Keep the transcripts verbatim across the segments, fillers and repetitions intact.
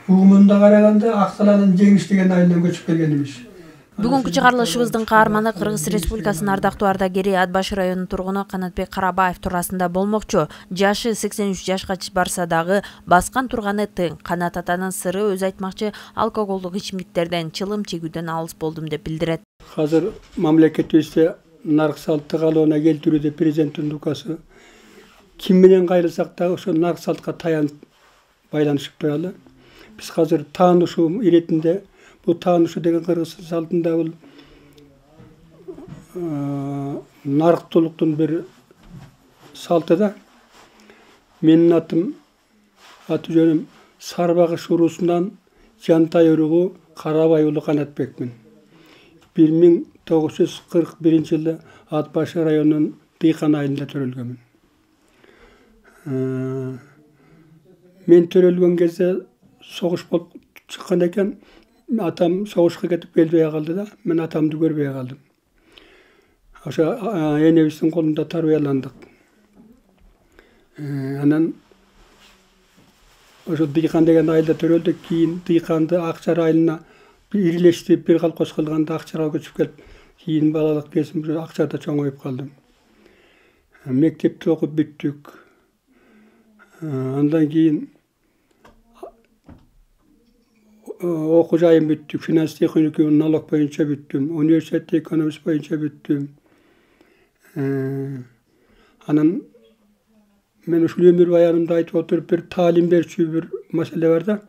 угумунда караганда Аксаланын Жеңиш деген айылдан көчүп келген имиш. Бүгүнкү чыгарылышыбыздын каарманы Кыргыз Республикасынын ардактуу ардагери Ат башы районунун тургуну Канатбек Карабаев туурасында болмокчу. Жашы сексен үч жашка барса дагы баскан турганы тең. Канат атанын сыры өз айтмакчы алкоголдук ичимдиктерден, чылым чегүүдөн алыс болдум деп билдирет. Азыр мамлекетибизде нарк салты калыбына келтирүүдө президенттин указы ким менен кайрылсак дагы ошо нарк салтка таянып байланышып туралы. Биз азыр таанышуу иретинде бул таанышуу деген кыргыз салтында бул нарктуулуктун бир салты да. Менин атым аты жөнүм Сарбагыш уруусунан Жантай уругу Карабай уулу Канатбекмин. бир миң тогуз жүз кырк биринчи жылы Ат башы районунун Дыйкан айылында төрөлгөнмүн. Мен төрөлгөн кезде согуш болуп чыккан экен. Атам согушка кетип келбей калды да, мен атамды көрбөй калдым. Ошо энебиздин колунда тарбияландык. Анан ошо Дыйкан деген айылда төрөлдүк. Кийин Дыйканды Акчар айылына ирилештирип бир колхоз кылганда Акчарга көчүп келип, кийин балалык кезим Акчарда чоңоюп калдым. Мектепти окуп бүттүк. Андан кийин окуу жайым бүттүк. Финанс техникумун налог боюнча бүттүм. Университетте экономист боюнча бүттүм. Анан мен ушул өмүр баянымда айтып отуруп бир таалим берчү бир маселе бар да.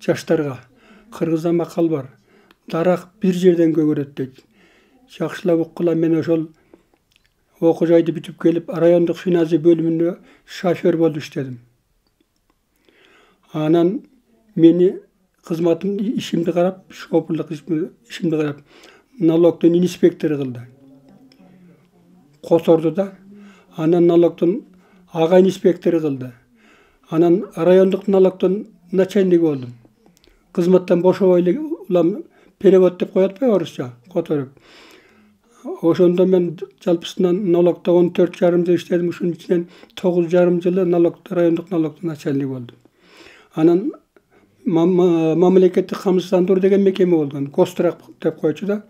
Жаштарга кыргызда макал бар. Дарак бир жерден көгөрөт дейт. Жакшылап уккула, мен ошол окуу жайды бүтүп келип, райондук финансы бөлүмүндө шофер болуп иштедим. Анан мени кызматым ишимди карап, шоферлук ишимди карап, налогдун инспектору кылды. Которду да. Анан налогдун ага инспектору кылды. Анан райондук налогдун начальниги болдум. Кызматтан бошобой эле улам перевод деп коет го орусча, которуп. Ошондо мен жалпысынан налогдо он төрт жарым жыл иштедим. Ушунун ичинен тогуз жарым жылы налогдо, райондук налогдун начальниги болдум. Анан мамлекеттик камсыздандыруу деген мекеме болгон. Гострак деп койчу да.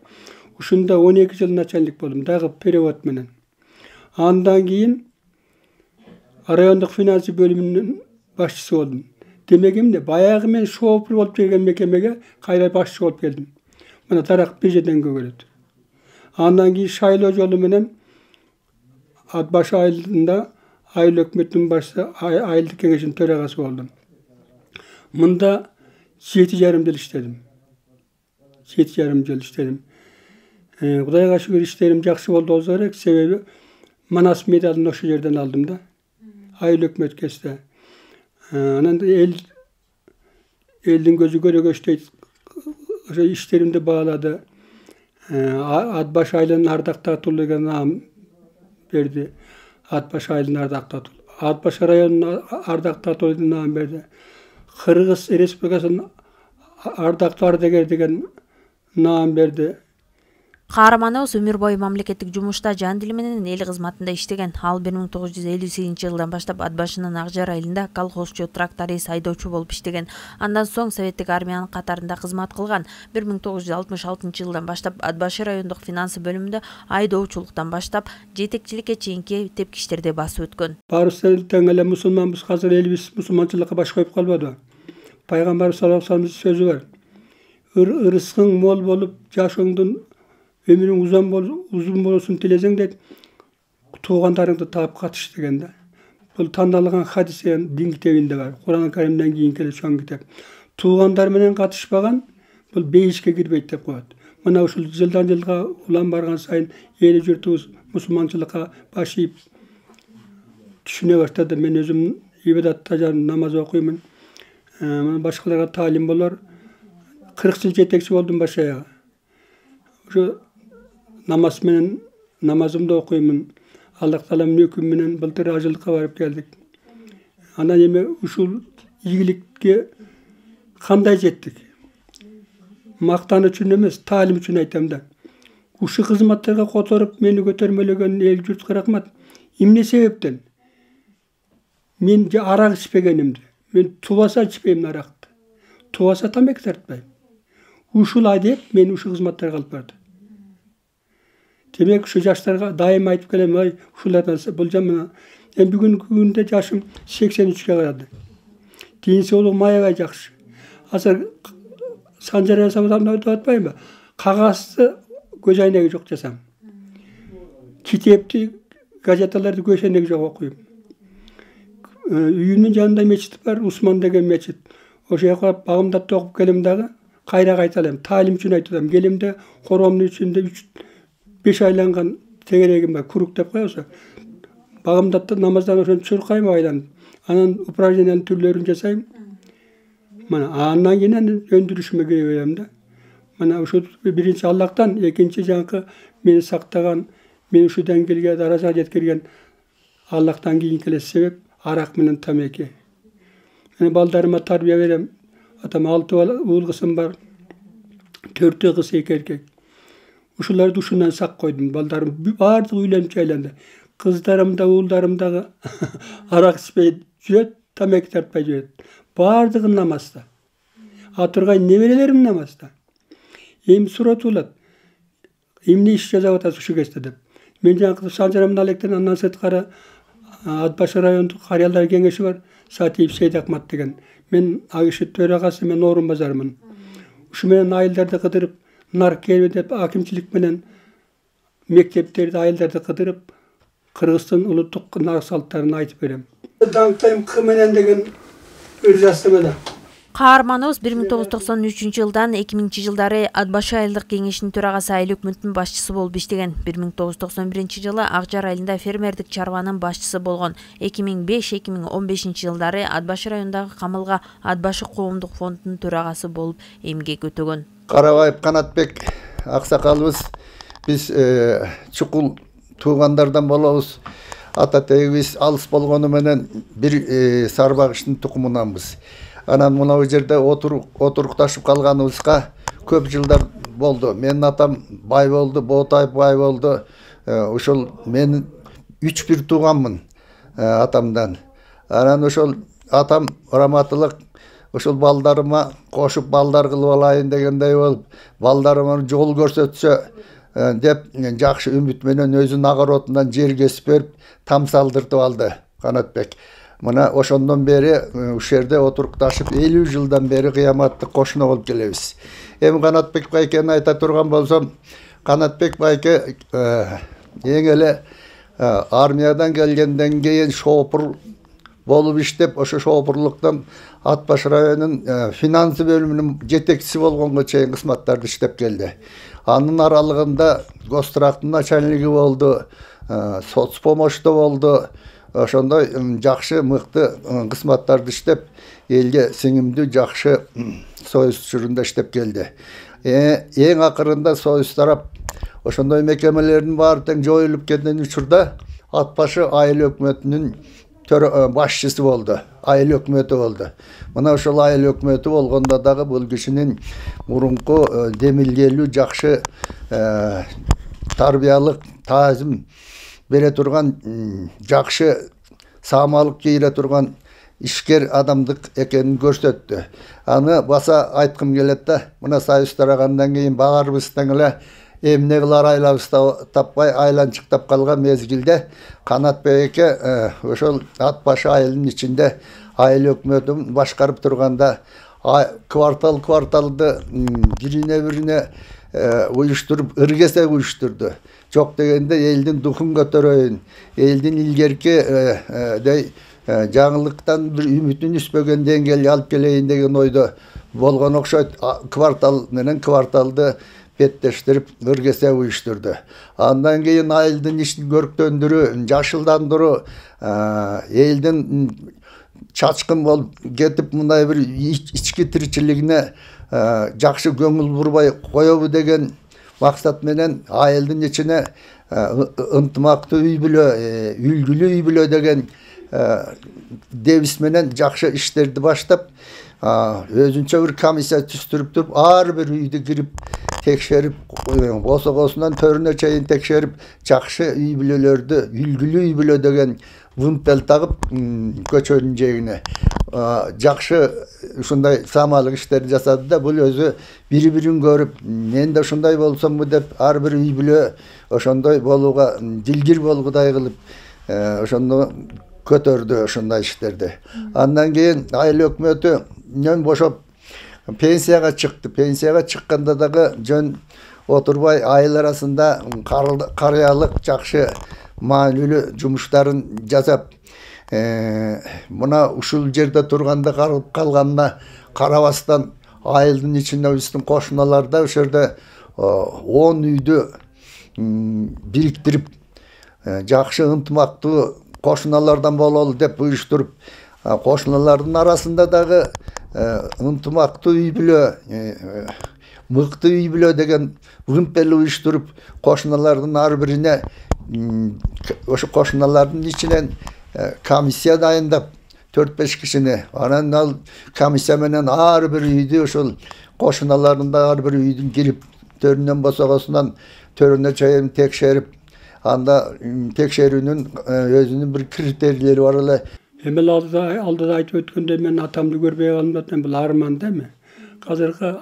Ушунда он эки жыл начальник болдум, дагы перевод менен. Андан кийин райондук финансы бөлүмүнүн башчысы болдум. Демек эмне? Баягы мен шофер болуп келген мекемеге кайра башчы болуп келдим. Мына дарак бир жерден көгөрөт. Андан кийин шайлоо жолу менен Ат башы айылында айыл өкмөтүнүн башчысы, айылдык кеңешинин төрагасы болдум. Мында жети жарым жыл иштедим. Жети жарым жыл иштедим. Кудайга шүгүр иштерим жакшы болду болсо керек, себеби Манас медалын ошол жерден алдым да. Айыл өкмөт кезде. Анан эл элдин көзү көрөгөчтөйт. Ошо иштеримди баалады. Ат башы айылынын ардактаатуулу деген наам берди. Ат башы айылынын ардактаатуулу. Ат башы районунун ардактаатуулу деген наам берди. Кыргыз Республикасынын ардактуу ардагер деген наам берди. Каарманыбыз өмүр бою мамлекеттик жумушта жан дили менен эл кызматында иштеген. Ал бир миң тогуз жүз элүү сегизинчи жылдан баштап Ат башынын Ак Жар айылында колхозчу, тракторист, айдоочу болуп иштеген. Андан соң советтик армиянын катарында кызмат кылган. бир миң тогуз жүз алтымыш алтынчы жылдан баштап Ат башы райондук финансы бөлүмүндө айдоочулуктан баштап жетекчиликке чейинки тепкичтерде басып өткөн. Баарыбыз тең эле мусулманбыз, азыр элибиз мусулманчылыкка баш коюп калбады. Пайгамбарыбыз саллаллаху алейхи вассаламдын сөзү бар. Ырыскың мол болуп, жашооңдун өмүрүң узун болуп, узун болсун тилесең дейт, туугандарыңды таап катыш деген да. Бул тандалган хадис деген дин китебинде бар. Куран Каримден кийинки эле чоң китеп. Туугандар менен катышпаган бул бейишке кирбейт деп коет. Мына ушул жылдан жылга улам барган сайын эли журтубуз мусулманчылыкка баш ийип түшүнө баштады. Мен өзүм ибадатта жан намаз окуймун. Башкаларга таалим болор. кырк жыл жетекчи болдум баш аягы. Ошо намаз менен намазымды окуймун. Аллах Тааланын өкүмү менен былтыр ажылыкка барып келдик. Анан эми ушул ийгиликке кандай жеттик? Мактан үчүн эмес, таалим үчүн айтам да. Ушул кызматтарга которуп мени көтөрмөлөгөн эл журтка рахмат. Эмне себептен? Мен арак ичпегенимди. Мен тубаса ичпейм аракты. Тубаса тамеки тартпайм. Ушулай деп мени ушул кызматтарга алып барды. Демек ушу жаштарга дайым айтып келем, ой, ушулардан бул жаман. Эми бүгүнкү күндө жашым сексен үчкө карады. Ден соолугум аябай жакшы. Азыр санжар жасабасам деп атпайбы? Кагазды көз айнеги жок жасам. Китепти, газеталарды көз айнеги жок окуйм. Үйүмдүн жанында мечит бар, Усман деген мечит. Ошо жака багымдап окуп келем дагы, кайра кайталам. Таалим үчүн айтам. Келимде коромдун ичинде үч беш айланган тегерегим бар, курук деп коебуз. Багымдап намаздан ошон чуркайм айланып. Анан упражнениянын түрлөрүн жасайм. Мана андан кийин өндүрүшүмө кире берем да. Мана ошо биринчи Аллахтан, экинчи жанкы мени сактаган, мени ушу деңгээлге даражага жеткирген Аллахтан кийинки эле себеп арак менен тамеки. Мен балдарыма тарбия берем. Атам алты уул кызым бар. Төртөө кыз, эки эркек. Ушуларды ушундан сак койдум. Балдарым баардыгы үйлөнүп жайланды. Кыздарым да, уулдарым дагы арак ичпей жүрөт, тамеки тартпай жүрөт. Баардыгы намазда. Атыргай неберелерим намазда. Эми суратуулат. Эмне иш жасап атасыз ушу кезде деп. Мен жаңы Санжарамдын алектен андан сырткары Ат Башы райондук карыялар кеңеши бар. Сатиев Сейдакмат деген. Мен ал киши төрагасы, мен орун базармын. Ушу менен айылдарды кыдырып, нар келбе деп акимчилик менен мектептерди, айылдарды кыдырып, Кыргыздын улуттук нар салттарын айтып берем. Даңктайм К менен деген ыр жаздым. Каарманыбыз бир миң тогуз жүз токсон үчүнчү жылдан эки миңинчи жылдары Ат Башы айылдык кеңешинин төрагасы, айыл өкмөтүнүн башчысы болуп иштеген. бир миң тогуз жүз токсон биринчи жылы Ак Жар айылында фермердик чарбанын башчысы болгон. эки миң беш эки миң он бешинчи жылдары Ат Башы районундагы Камылга Ат Башы коомдук фондунун төрагасы болуп эмгек өтөгөн. Карабаев Канатбек аксакалыбыз, биз чукул туугандардан болобуз. Ата тегибиз алыс болгону менен бир сарбагыштын тукумунанбыз. Анан мына жерде отурукташып калганыбызга көп жылдар болду. Менин атам бай болду, Боотаев бай болду. Ошол мен үч бир тууганмын атамдан. Анан ошол атам раматылык ошол балдарыма кошуп балдар кылып алайын дегендей болуп, балдарыма жол көрсөтсө деп жакшы үмүт менен өзүнүн огородунан жер кесип берип, там салдыртып алды Канатбек. Мына ошондон бери ушул жерде отурукташып элүү жылдан бери кыяматтык кошуна болуп келебиз. Эми Канатбек байкени айта турган болсом, Канатбек байке эң эле армиядан келгенден кийин шопур болуп иштеп, ошо шопурлуктан Ат Башы районунун финансы бөлүмүнүн жетекчиси болгонго чейин кызматтарды иштеп келди. Анын аралыгында Гострактын начальниги болду, соцпомощто болду. Ошондой жакшы мыкты кызматтарды иштеп, элге сиңимдүү жакшы союз чурунда иштеп келди. Эң акырында союз тарап ошондой мекемелердин баары тең жоюлуп кеткен учурда Ат Башы айыл өкмөтүнүн башчысы болду, айыл өкмөтү болду. Мына ошол айыл өкмөтү болгондо дагы бул кишинин мурунку демилгелүү жакшы тарбиялык, таазим бере турган, жакшы саамалык кийире турган ишкер адамдык экенин көрсөттү. Аны баса айткым келет да, мына союз тарагандан кийин баарыбыз тең эле эмне кылар айлабызды таппай айланчыктап калган мезгилде Канатбек ошол Ат Башы айылынын ичинде айыл өкмөтүн башкарып турганда квартал кварталды бирине бирине уюштуруп, ыргесе уюштурду. Жок дегенде элдин духун көтөрөйүн, элдин илгерки жаңылыктан бир үмүтүн үзбөгөн деңгээлге алып келейин деген ойдо болгон окшойт. Квартал менен кварталды беттештирип, ыргесе уюштурду. Андан кийин айылдын ишин көрктөндүрүү, жашылдандыруу, элдин чачкын болуп кетип, мындай бир ички тиричилигине жакшы көңүл бурбай коебу деген максат менен айылдын ичине ынтымактуу үй бүлө, үлгүлүү үй бүлө деген девиз менен жакшы иштерди баштап, өзүнчө бир комиссия түзүп туруп, ар бир үйдү кирип текшерип, босогосунан төрүнө чейин текшерип, жакшы үй бүлөлөрдү, үлгүлүү үй бүлө деген вымпел тагып көчөнүн жээгине жакшы ушундай самалык иштерди жасады да, бул өзү бири бирин көрүп, мен да ушундай болсомбу деп, ар бир үй бүлө ошондой болууга, дилгир болгудай кылып, ошондо көтөрдү ушундай иштерди. Андан кийин айыл өкмөтүнөн бошоп пенсияга чыкты. Пенсияга чыкканда дагы жөн отурбай айыл арасында карыялык жакшы маанилүү жумуштарын жасап, мына ушул жерде турганда калып калганына карабастан айылдын ичинде биздин кошуналарда ошол жерде он үйдү бириктирип жакшы ынтымактуу кошуналардан бололу деп уюштуруп, кошуналардын арасында дагы ынтымактуу үй бүлө, мыкты үй бүлө деген вымпел уюштуруп, кошуналардын ар бирине ошо кошуналардын ичинен комиссия дайындап төрт беш кишини, анан ал комиссия менен ар бир үйдү ошол кошуналарында ар бир үйдүн кирип төрүнөн босогосунан төрүнө чейин текшерип, анда текшерүүнүн өзүнүн бир критерийлери бар эле. Эми алдыда айтып өткөндөй, мен атамды көрбөй калдым да, бул арман да эми. Азыркы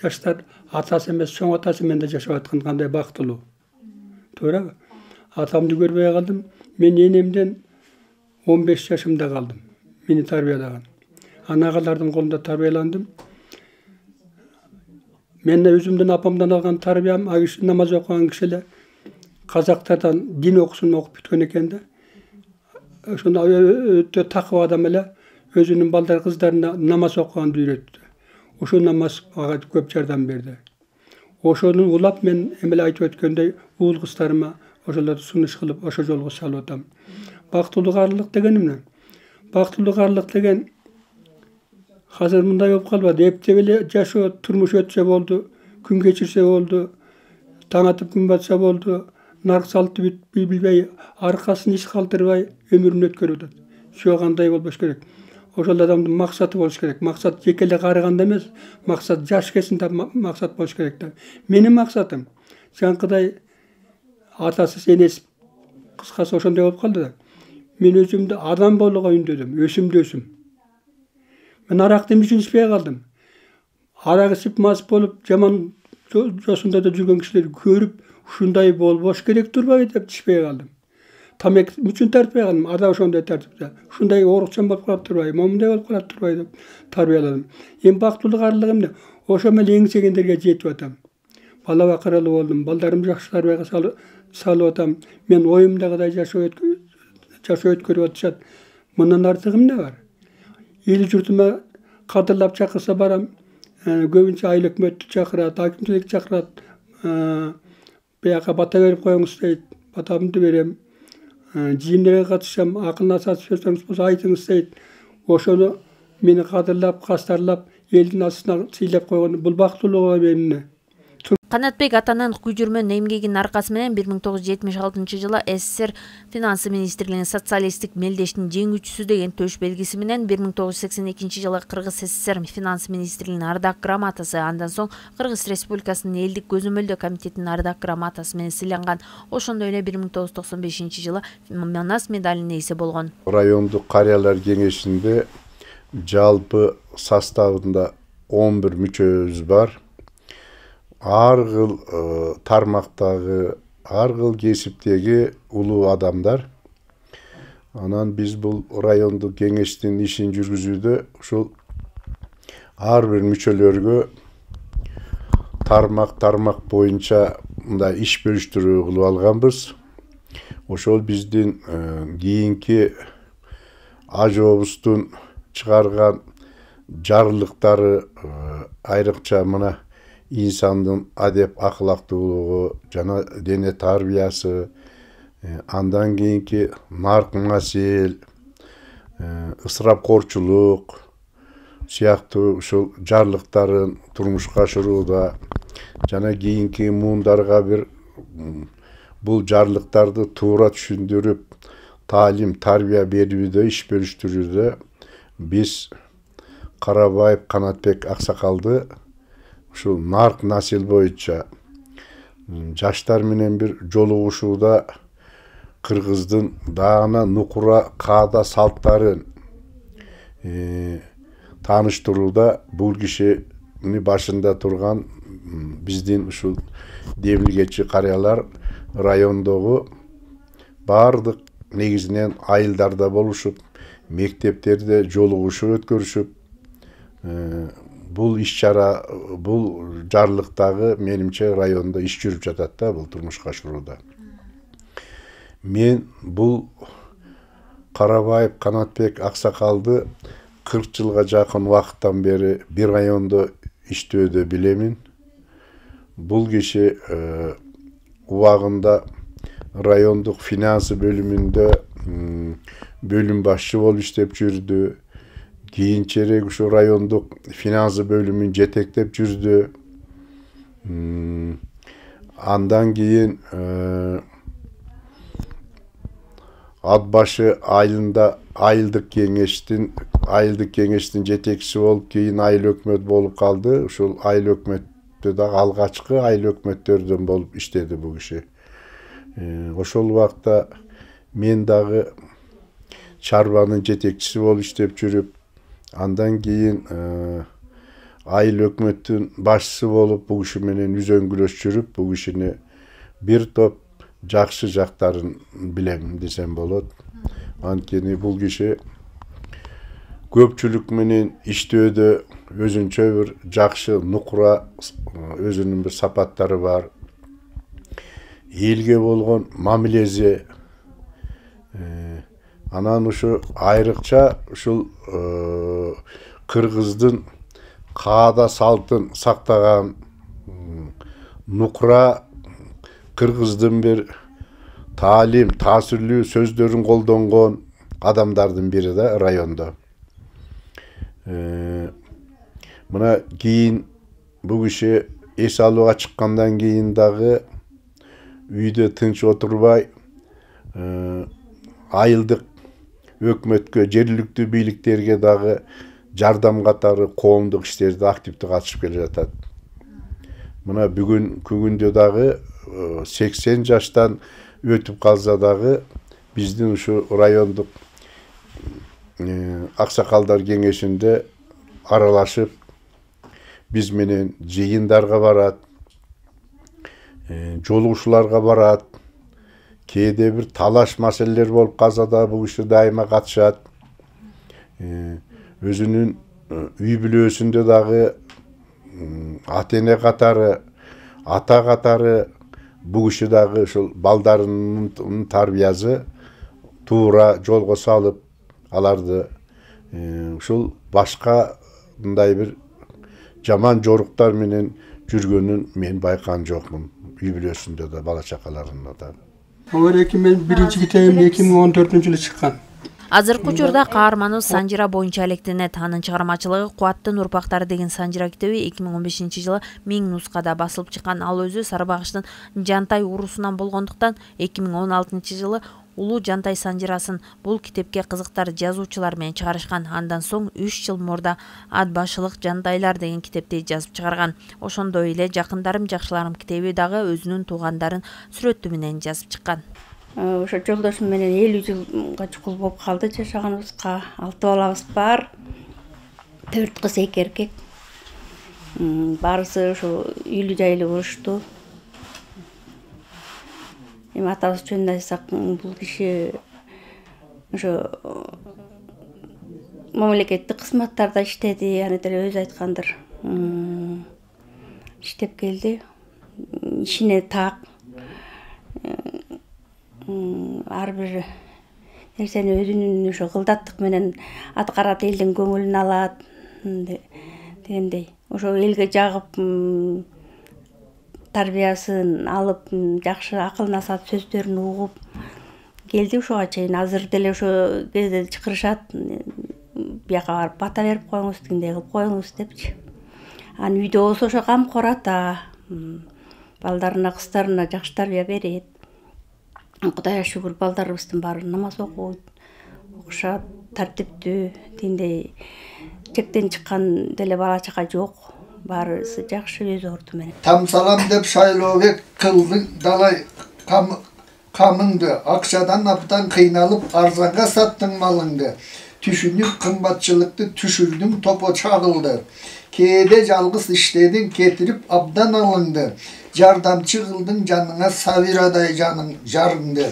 жаштар атасы эмес, чоң атасы менен жашап аткан кандай бактылуу. Туурабы? Атамды көрбөй калдым. Мен энемден он беш жашымда калдым. Мени тарбиялаган. Анагалардын колунда тарбияландым. Мен өзүмдүн апамдан алган тарбиям, а киши намаз окуган киши эле казактардан дин окусун окуп бүткөн экен да. Ошондо өтө такып адам эле өзүнүн балдар кыздарына намаз окуганды үйрөттү. Ошол намаз ага көп жардам берди. Ошону улап мен эми айтып өткөндөй уул кыздарыма ошолорду сунуш кылып ошо жолго салып атам. Бактылуу арлык деген эмне? Бактылуу арлык деген азыр мындай болуп калбады. Эптеп эле жашоо, турмуш өтсө болду, күн кечирсе болду, таң атып күн батса болду, нарк салтты билбей, аркасын иш калтырбай өмүрүн өткөрүп атат. Жок, андай болбош керек. Ошол адамдын максаты болуш керек. Максат жеке эле карыганда эмес, максат жаш кезинде максат болуш керек да. Менин максатым жанкыдай атасыз, энесиз, кыскасы ошондой болуп калды да. Мен өзүмдү адам болууга үндөдүм, өсүмдү өсүм. Мен аракты эмне үчүн ичпей калдым? Арак ичип мас болуп, жаман жосунда да жүргөн кишилерди көрүп, ушундай болбош керек турбайбы деп ичпей калдым. Тамек үчүн тартпай калдым, ада ошондой тартипте. Ушундай оорукчан болуп калып турбайбы, момундай болуп калып турбайбы деп тарбияладым. Эми бактылуу карлык эмне? Ошо менен эңсегендерге жетип атам. Бала бакыралуу болдум, балдарым жакшы тарбияга салып атам. Мен оюмдагыдай жашоо жашоо өткөрүп атышат. Мындан артык эмне бар? Эл журтума кадырлап чакырса барам. Көбүнчө айыл өкмөттү чакырат, акимчилик чакырат. Бияка бата берип коюңуз дейт. Батамды берем. Жыйындыга катышам, акыл насаат сөзүңүз болсо айтыңыз дейт. Ошону мени кадырлап, кастарлап, элдин астына сыйлап койгон бул бактылууга эмне? Канатбек атанын күжүрмөн эмгегинин аркасы менен бир миң тогуз жүз жетимиш алтынчы жылы СССР финансы министрлигинин социалисттик мелдештин жеңүүчүсү деген төш белгиси менен бир миң тогуз жүз сексен экинчи жылы Кыргыз СССР финансы министрлигинин ардак грамотасы, андан соң Кыргыз Республикасынын элдик көзөмөлдөө комитетинин ардак грамотасы менен сыйланган. Ошондой эле бир миң тогуз жүз токсон бешинчи жылы Манас медалинин ээси болгон. Райондук карыялар кеңешинде жалпы составында он бир мүчөбүз бар. Ар кыл тармактагы, ар кыл кесиптеги улуу адамдар. Анан биз бул райондук кеңештин ишин жүргүзүүдө ушул ар бир мүчөлөргө тармак тармак боюнча мындай иш бөлүштүрүү кылып алганбыз. Ошол биздин кийинки ажообуздун чыгарган жарлыктары айрыкча мына инсандын адеп акылактуулугу жана дене тарбиясы, андан кийинки нарк насил, ысырапкорчулук сыяктуу ушул жарлыктарын турмушка ашырууда жана кийинки муундарга бир бул жарлыктарды туура түшүндүрүп таалим тарбия берүүдө иш бөлүштүрүүдө биз Карабаев Канатбек аксакалды ушул нарк насил боюнча жаштар менен бир жолугушууда кыргыздын даана нукура каада салттарын тааныштырууда бул кишини башында турган биздин ушул демилгечи карыялар райондогу бардык негизинен айылдарда болушуп, мектептерде жолугушуп өткөрүшүп, бул иш-чара, бул жарлыктагы менимче райондо иш жүрүп жатат да, бул турмушка ашырууда. Мен бул Карабаев Канатбек аксакалды кырк жылга жакын убакыттан бери бир райондо иштөөдө билемин. Бул киши убагында райондук финансы бөлүмүндө бөлүм башчы болуп иштеп жүрдү. Кийинчерээк ушу райондук финансы бөлүмүн жетектеп жүрдү. Андан кийин ат башы айылында айылдык кеңештин айылдык кеңештин жетекчиси болуп, кийин айыл өкмөт болуп калды. Ушул айыл өкмөттө дагы алгачкы айыл өкмөттөрдөн болуп иштеди бул киши. Ошол убакта мен дагы чарбанын жетекчиси болуп иштеп жүрүп, андан кийин айыл өкмөттүн башчысы болуп бул киши менен үзөңгүлөш жүрүп, бул кишини бир топ жакшы жактарын билем десем болот. Анткени бул киши көпчүлүк менен иштөөдө өзүнчө бир жакшы нукура, өзүнүн бир сапаттары бар. Элге болгон мамилеси, анан ушу айрыкча ушул кыргыздын каада салтын сактаган, нукура кыргыздын бир таалим, таасирлүү сөздөрүн колдонгон адамдардын бири да райондо. Мына кийин бул киши эс алууга чыккандан кийин дагы үйдө тынч отурбай, айылдык өкмөткө, жергиликтүү бийликтерге дагы жардам катары коомдук иштерде активдүү катышып келе жатат. Мына бүгүн күндө дагы сексен жаштан өтүп калса дагы биздин ушу райондук аксакалдар кеңешинде аралашып, биз менен жыйындарга барат, жолугушууларга барат. Кээде бир талаш маселелер болуп калса да бул киши дайыма катышат. Өзүнүн үй бүлөсүндө дагы ата-эне катары, ата катары бул киши дагы ушул балдарынын тарбиясы туура жолго салып, аларды ушул башка мындай бир жаман жоруктар менен жүргөнүн мен байкаган жокмун. Үй бүлөсүндө да, бала чакаларында да. Оореки мен биринчи китебим эки миң он төртүнчү жылы чыккан. Азыркы учурда каарманыбыз Санжира боюнча алектенет. Анын чыгармачылыгы Кубаттын урпактары деген Санжира китеби эки миң он бешинчи жылы миң нускада басылып чыккан. Ал өзү Сарыбагыштын Жантай уруусунан болгондуктан эки миң он алтынчы жылы Улуу Жантай Санжирасын бул китепке кызыктар жазуучулар менен чыгарышкан. Андан соң үч жыл мурда Ат башылык Жандайлар деген китепти жазып чыгарган. Ошондой эле Жакындарым жакшыларым китеби дагы өзүнүн туугандарын сүрөтү менен жазып чыккан. Ошо жолдошум менен элүү жылга чукул болуп калды жашаганыбызга. Алты балабыз бар. Төрт кыз, эки эркек. Баарысы ошо үйлүү жайлуу болушту. Эми атабыз жөнүндө айтсак, бул киши ошо мамлекеттик кызматтарда иштеди, аны деле өзү айткандыр. Иштеп келди. Ишине так. Ар бир нерсени өзүнүн ошо кылдаттык менен аткарат, элдин көңүлүн алат дегендей. Ошо элге жагып, тарбиясын алып, жакшы акыл насаат сөздөрүн угуп келди ушуга чейин. Азыр деле ошо кезде чакырышат, бияка барып бата берип коюңуз, тигиндей кылып коюңуз депчи. Анан үйдө болсо ошо камкор ата, балдарына, кыздарына жакшы тарбия берет. Кудайга шүгүр, балдарыбыздын баары намаз окуйт, окушат, тартиптүү, тигиндей чектен чыккан деле бала чака жок. Баарысы жакшы өз орду менен. Там салам деп шайлообек кылдың далай камыңды, акчадан аптан кыйналып арзанга саттың малыңды. түшүнүп кымбатчылыкты түшүрдүң, топо чагылды. Кээде жалгыз иштедиң, кетирип абдан алынды. Жардамчы кылдың жаныңа сабирадай жаның жарыңды.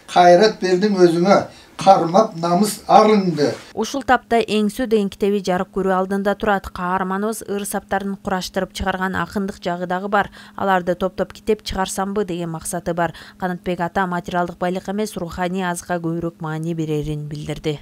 Кайрат бердиң өзүңө, кармап намыс арыңды. Ушул тапта Эңсүү деген китеби жарык көрүү алдында турат. Каарманыбыз ыр саптарын кураштырып чыгарган акындык жагы дагы бар. Аларды топтоп китеп чыгарсамбы деген максаты бар. Канатбек ата материалдык байлыкка эмес, руханий азыкка көбүрөөк маани берерин билдирди.